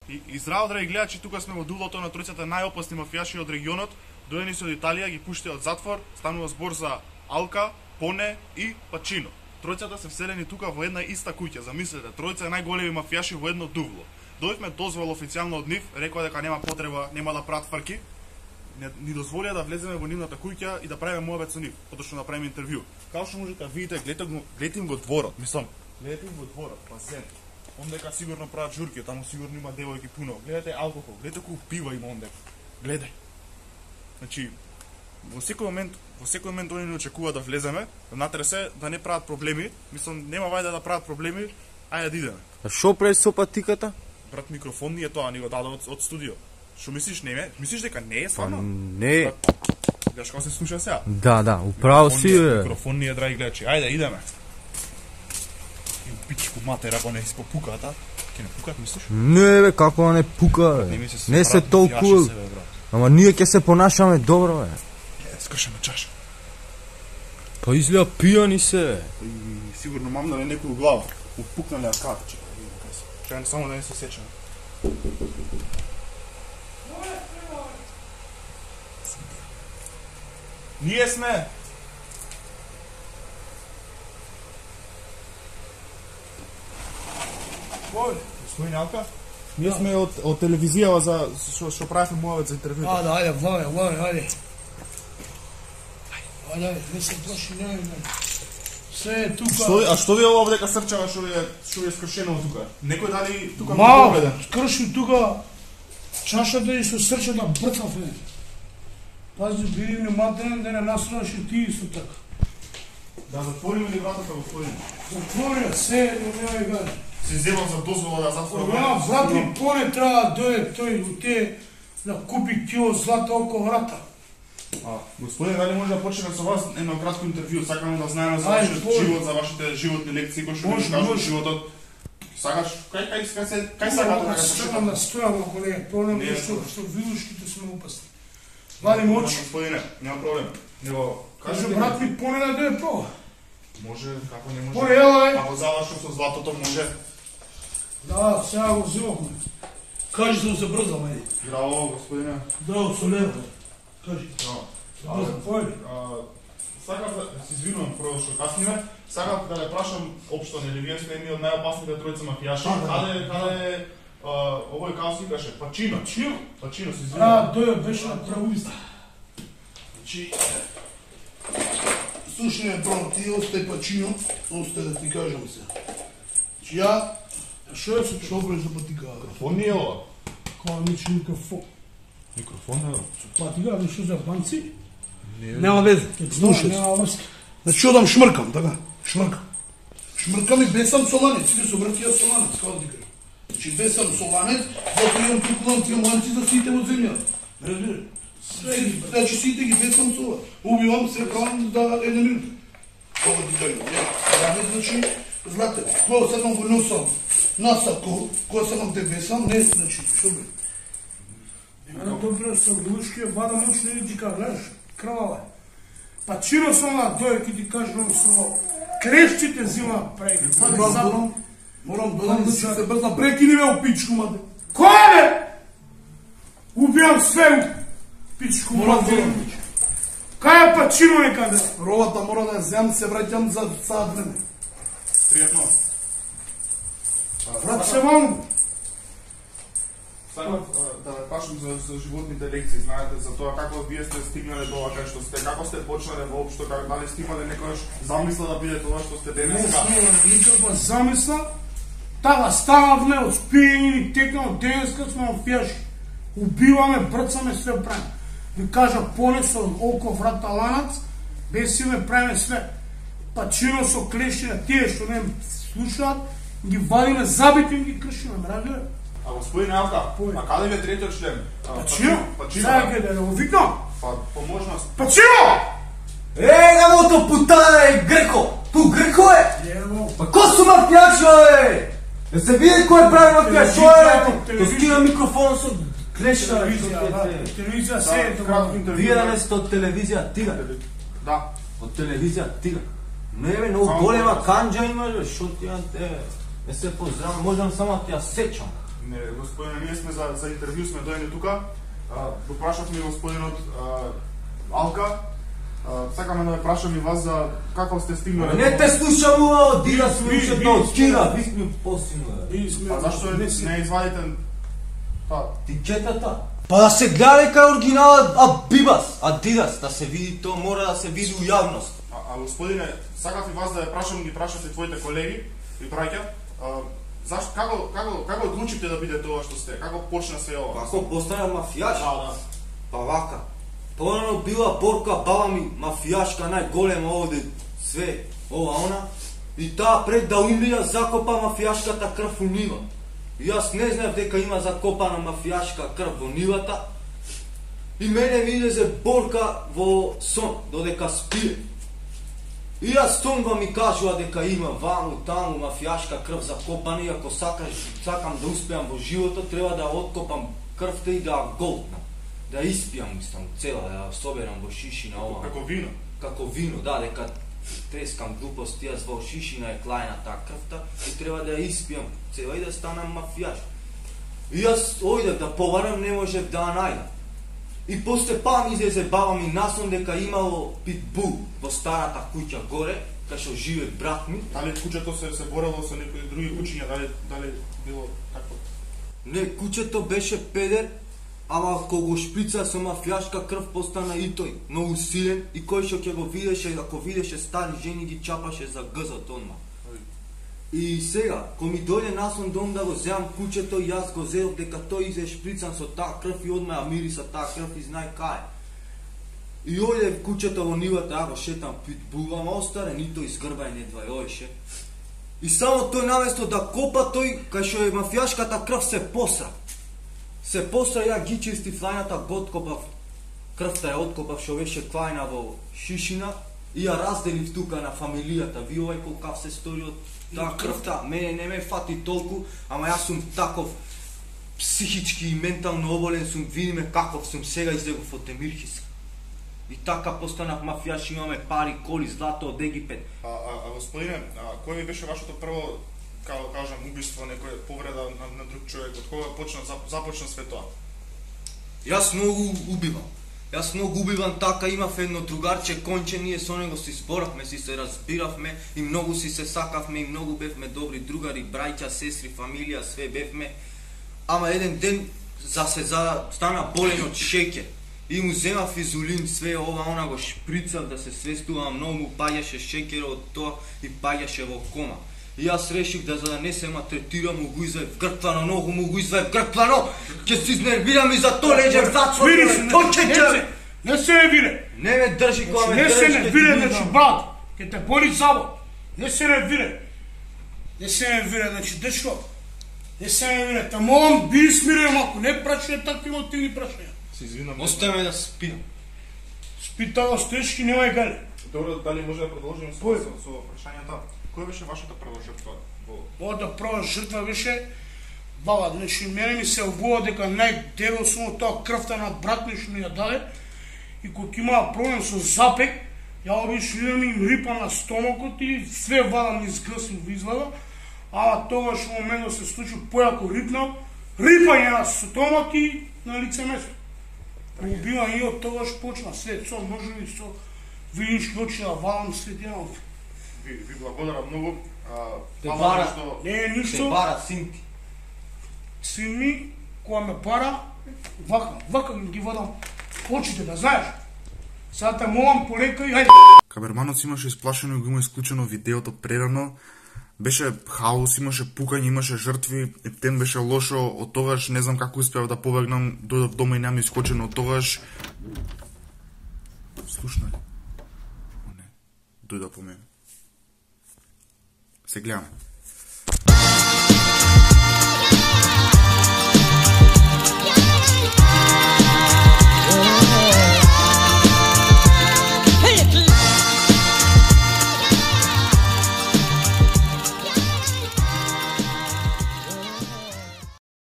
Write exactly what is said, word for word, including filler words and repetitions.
И, и здраво, драги гледачи, тука сме во дулото на тројцата најопасни мафијаши од регионот, дојдени се од Италија, ги пуштија од затвор, станува збор за Алка, Поне и Пачино. Тројцата се вселени тука во една иста куќа, замислете, тројца најголеми мафијаши во едно дувло. Дојдовме дозвол официјално од нив, рекоа дека нема потреба, нема да прават фрки, ни дозволија да влеземе во нивната куќа и да правиме муабет со нив, поточно да правиме интервју. Као што можете да видите, гледате го, гледате им го дворот, мислам, гледате им го дворот, базен. Ондека сигурно прават журки, таму сигурно има девојки пуно. Гледате алкохол, гледате колку пива има ондека. Гледај. Значи, во секој момент, во секој момент они не очекуваат да влеземе, внатре се да не прават проблеми. Мислам, нема вајде да прават проблеми, ајде да идеме. А шо прави со патиката? Брат, микрофон ни е тоа, ни го даде од, од студио. Што мислиш, не е? Мислиш дека не е стварно? Не. Гледаш како се слуша сега? Да, да, управо си е. Микрофон ни е, драги гледачи. Ајде, идеме. Пичку матер, ако не испопуката, ќе не пукат, мислиш? Не бе, како не пука бе. Не, не се толку. Ама ние ќе се понашаме добро бе. Е, скршаме чаша. Па изгледа пијани се. И, сигурно мамнале некој глава. Упукнале аката, чека. Чекај само да не се сечам. Ние сме. Кој? Господин Алка? Ние сме од, од телевизија за што што правиме муавет за интервју. А, да, ајде, влај, влај, ајде. Ајде, не се плаши, не, не. Се е тука. Што, а што ви е ова дека срчава што ви е што ви е скршено тука? Некој дали тука Ма, скрши тука чашата и со срчата брцав е. Пази, биди внимателен да не насраш и ти исто така. Да затвориме ли вратата, господин? Затворија, се, не ме гај. Се земам за дозвола да затворам. Ова, брат ми, Поне треба да дојде тој у те да купи кило злата около врата. А, господин, дали може да почнеме со вас едно кратко интервју, сакаме да знаеме за Ај, вашиот Поне. живот, за вашите животни лекции, кои што ви Може, кажат може. животот. Сакаш, кај кај кај се кај сакате да Сакам да стојам ако не, Поне, Не, што не. што вилушките сме опасни. Вадим очи. Господине, нема проблем. Него, Каже, кажете брат ми, ми, Поне да дојде по. може, како не може. Поне, ела, е. Ако завршам со златото може. Да, сега го взимавме. Кажи се забрзам, ајде. Здраво, господине. Да, со лево. Кажи. Здраво. Забрзам, појде. А, сакав да се извинувам прво што касниме. Сакав да не прашам општо, нели вие сте едни од најопасните тројца мафијаши. Да, да. Каде каде а, овој како си каше? Пачино. Пачино? Пачино се А, извинувам. дојде беше на правуиста. Значи, слушай ме, прво, ти остай Пачино, остай да ти кажам се. Значи, ја, Шо е со што бреш за патика? Микрофон ни е ова. Кога ми че микрофон? Микрофон е ова. Патика, ви шо за банци? Нема везе. Слушай, Нема врска. значи, одам шмркам, така? Шмркам. Шмркам и бесам со ланец, сите со вртија со ланец, како да ти кажам. Значи, бесам со ланец, затоа имам туку ланци, имам ланци за сите во земјата. Разбира? Се, значи, сите ги бесам со ова. Убивам се каон да една минута. Како ти кажам, ја. Ланец, значи, знаете, кога сакам го носам на сако, кога сакам те бесам, не, значи, што бе? Ана добро со глушки, вада мош не ти кажеш, крвава е. Пачино со она дојде ки ти кажам со клешчите зима преки. Морам, морам да не се брзна, прекини ме у пичку, маде. Кој бе? Убијам све у пичку, Морам маде. да Кај е Пачино некаде? Ровата мора да ја земам, се враќам за саат време. Пријатно. Брат се вам. Сакав а, да прашам за, за животните лекции, знаете, за тоа како вие сте стигнале до ова кај што сте, како сте почнале воопшто, како дали сте имале некојаш замисла да бидете ова што сте Не денеска? сме никаква замисла. Тага стававме од спијање и текнал денеска сме мафијаши. Убиваме, брцаме, све правиме. Ви кажа, Поне со око врата ланац, бесиме, правиме све. Пачино со клешина, тие што не слушаат, ги вадиме, забитим ги кршиме, разбира? А господин Алка, Кој? а каде ви е третиот член? А, Пачино? Пачино. Сега ќе да го викнам. Па поможност. Пачино! Е, гамото путана е Греко! Ту Греко е! Ево, Па ко су мафијачо е? Да се види кој прави мафијач, што е? Телевизија. То скина микрофон со клешта. телевизија, да, телевизија се е Да, тоа. кратко интервју. Вие да не сте од телевизија Тига. Да. Од телевизија Тига. Не бе, многу Само голема голема. канџа имаш, бе, шо ти ја те... Не се поздравам, можам само да ти ја сечам. Не, господине, ние сме за, за интервју сме дојдени тука. Го прашавме господинот а, Алка. А, сакаме да ве прашам и вас за како сте стигнали. Не те слушам, одира сме уште до Кира, ви сме посино. А зашто не, не извадите та тикетата? Па да се гледа кај оригиналот Абибас, Адидас, да се види тоа, мора да се види у јавност. А, а господине, сакав и вас да ве прашам, ги прашав и твоите колеги и браќа. Зашто како како како одлучите да биде тоа што сте? Како почна се ова? Како постана мафијаш? Да, да. Па вака. Порано била Борка, баба ми, мафијашка, најголема овде, све, ова, она. И таа пред да умира закопа мафијашката крв у нива. И јас не знаев дека има закопана мафијашка крв во нивата. И мене ми излезе Борка во сон, додека спие. И јас сонва ми кажува дека има ваму, таму мафијашка крв закопана, и ако сакаш, сакам да успеам во животот, треба да откопам крвта и да ја голтнам. Да испијам, мислам, цела, да ја соберам во шишина ова. Како вино? Како вино, да, дека трескам глупости, јас во шишина е клајна таа крвта и треба да ја испијам цела и да станам мафијаш. И јас ојдев да поварам, не можев да ја најдам. И после па ми излезе баба ми насон дека имало питбул во старата куќа горе, кај што живе брат ми. Дали куќето се се борело со некои други куќиња, дали дали било такво? Не, куќето беше педер, ама кога го шприца со мафијашка крв постана и тој многу силен и кој што ќе го видеше, ако видеше стари жени ги чапаше за гзот одма. И сега, кога ми дојде насон дом да го земам куќето, јас го зедов дека тој изе шприцан со таа крв и одма ја мириса таа крв и знај кај. И ојде куќето во нивата, ја го шетам питбул, ама остарен и тој згрбај не двајоеше. И само тој наместо да копа тој, кај што е мафијашката крв се посра. Се посра, ја ги чистив лајната, го откопав крвта, ја откопав што беше клајна во шишина и ја разделив тука на фамилијата. Ви овај колкав се стори од таа крвта, мене не ме фати толку, ама јас сум таков психички и ментално оболен сум, види ме каков сум сега, излегов од Темирхис. И така постанав мафијаш, имаме пари, коли, злато од Египет. А, а, а господине, а, кој ви беше вашето прво, како кажам, убиство, некој повреда на, на друг човек, од кога почна, започна све тоа? Јас многу убивам. Јас многу убивам, така имав едно другарче Конче, ние со него си зборавме, си се разбиравме и многу си се сакавме и многу бевме добри другари, браќа, сестри, фамилија, све бевме. Ама еден ден за се за стана болен од шеќер. И му земав изулин, све ова, она го шприцав да се свестувам, многу му паѓаше шеќерот од тоа и паѓаше во кома. И јас решив да за да не се ма третирам, му го изваев грквано, многу му го изваев грквано, ќе се изнервирам и за то леđem затвор. Не се не вире. Не ме држи кога ме држи. Не се не вире, значи брат, ќе те боли завод. Не се не вире. Не се не вире, значи дечко. Не се не вире, те молам биди смирен малку, не прашање такви мотивни прашања. Се извинам. Остави ме да спиам. Спи таа стешки, немај гале. Добро, дали може да продолжиме со, со, со прашањата? Која беше вашата прва жртва? Мојата прва жртва беше баба, значи мене ми се обува дека најдебел сум од тоа крвта на брат ми што ми ја даде и кога имаа проблем со запек, ја обично идам им рипа на стомакот и све вадам низ грсим во извада, а тогаш во моментот се случи појако рипнав, рипање на стомак и на лице место. Убивање и од тогаш почна све, со ножови, со винички очи да вадам след едно. Ви, ви благодарам многу. Те бара, не е ништо. Те бара син ти. Син ми, кога ме пара, вака, вака ги водам очите, да знаеш. Сега те молам полека и хајде. Каберманот имаше исплашено и го има исклучено видеото прерано. Беше хаос, имаше пукање, имаше жртви, ептен беше лошо, од тогаш не знам како успеав да побегнам, дојдов дома и нема искочено од тогаш. Слушна ли? Не, дојда по мене. Се гледаме.